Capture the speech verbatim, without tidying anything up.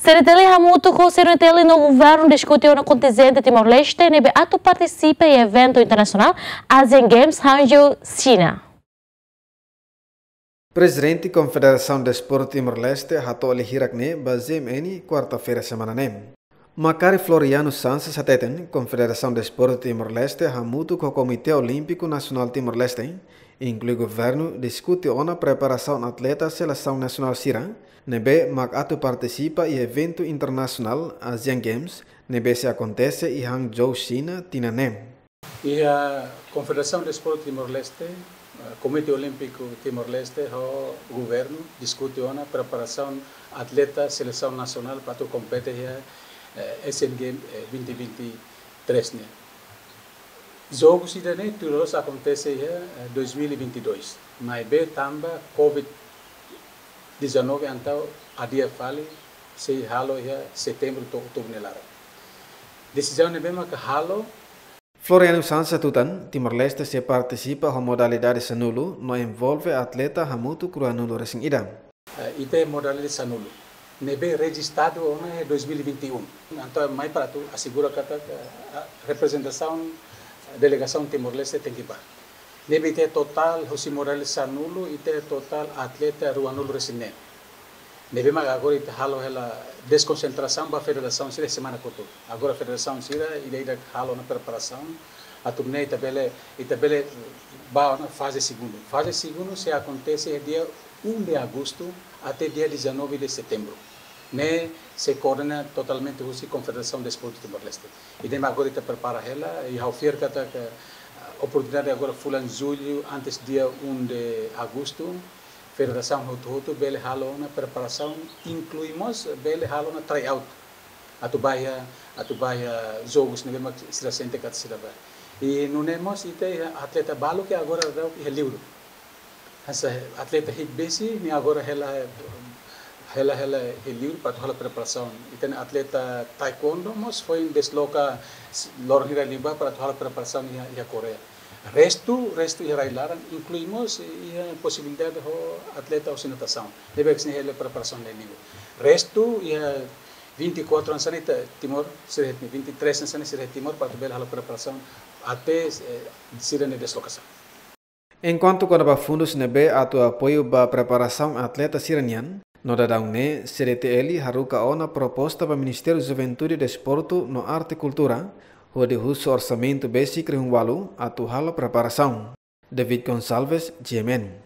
CDTL hamutuk ho CNTL no governu diskute ona kontingente Timor-Leste ne'ebé atu partisipa iha eventu internasionál Asian Games Hangzhou, Xina. Prezidente Konfederasaun Desportu Timor-Leste hato'o lia hirak ne'e ba GMN, kuarta-feira semana ne'e. Makari Floriano Sanches hateten, Konfederasaun Desportu Timor-Leste hamutuk ho Komité Olímpiku Nasionál Timor-Leste, inklui governu, diskute ona preparasaun atleta selesaun nasionál sira ne'ebé mak atu partisipa iha eventu internasionál Asian Games ne'ebé sei akontese iha Hangzhou, Xina, tinan ne'e. Iha Konfederasaun Desportu Timor-Leste, eh, Komité Olímpiku Timor-Leste ho governu diskute ona preparasaun atleta selesaun nasionál para atu kompete iha, eh, Asian Games, eh, vinte vinte e três ne'e. Jogu sira-ne'e tuir loloos akontese iha, eh, dois mil e vinte e dois. Maibé tanba covid dezanove entaun adia fali, sei halo iha setembru to'o outubru nia laran. Desizaun ne'ebé maka halo. Floriano Sanches hatutan, Timor-Leste sei partisipa ho modalidade sanulu no envolve atleta hamutuk ruanulu-resin-ida. Eh, ita modalidade sanulu ne'ebé rejistadu ona iha dois mil e vinte e um. Entaun mai para atu asegura katak, eh, reprezentasaun, eh, delegasaun Timor-Leste tenke bá. Ne'ebé ita totál, husi modalidade sanulu, ita totál atleta ruanulu-resin-neen. Ne'ebé mak agora ita halo hela deskonsentrasaun ba federasaun sira semana kotuk. Agora federasaun sira ida-idak halo ona preparasaun, atu nune'e ita bele, ita bele bá ona faze segundu. Faze segundu sei akontese dia um de agosto até dia dezanove de setembro. Ne'e sei koordena totalmente husi Konfederasaun Desportu Timor-Leste. Ida-ne'e mak agora ita prepara hela, i ha'u fiar katak, ah, oportunidade agora fulan jullu, antes dia um de agosto, federasaun hotu-hotu bele halo ona preparasaun, inklui mós bele halo ona tryout. Atu bá iha, atu bá iha jogus ne'ebé mak sira sente katak sira bá. I nune'e mós ita iha atleta balu ke agora daudaun iha liur. Hanesan atleta hi'it besi ne'e agora hela, hela, hela iha liur para atu halo preparasaun. Ita-nia atleta taekwondo mós foin desloka s-, loron hira liubá para atu halo preparasaun iha, iha Koreia. Restu, restu iha rai-laran, inklui mós iha posibilidade ho atleta husi natasaun. Ne'ebé sira hela preparasaun iha liur. Restu iha vinte e quatro hanesan ne'e ita Timor, sira iha vinte e três hanesan ne'e sira iha Timor, para atu bele halo preparasaun até, eh, sira-nia deslokasaun. Enkuantu kona-ba fundus ne'ebé atu apoiu ba preparasaun atleta sira-nian, no daudaun ne'e CDTL haruka ona proposta ba Ministériu Juventude, Desportu no Arte Kultura, hodi husu orsamentu besik rihun ualu atu halo preparasaun. David Gonçalves, GMN.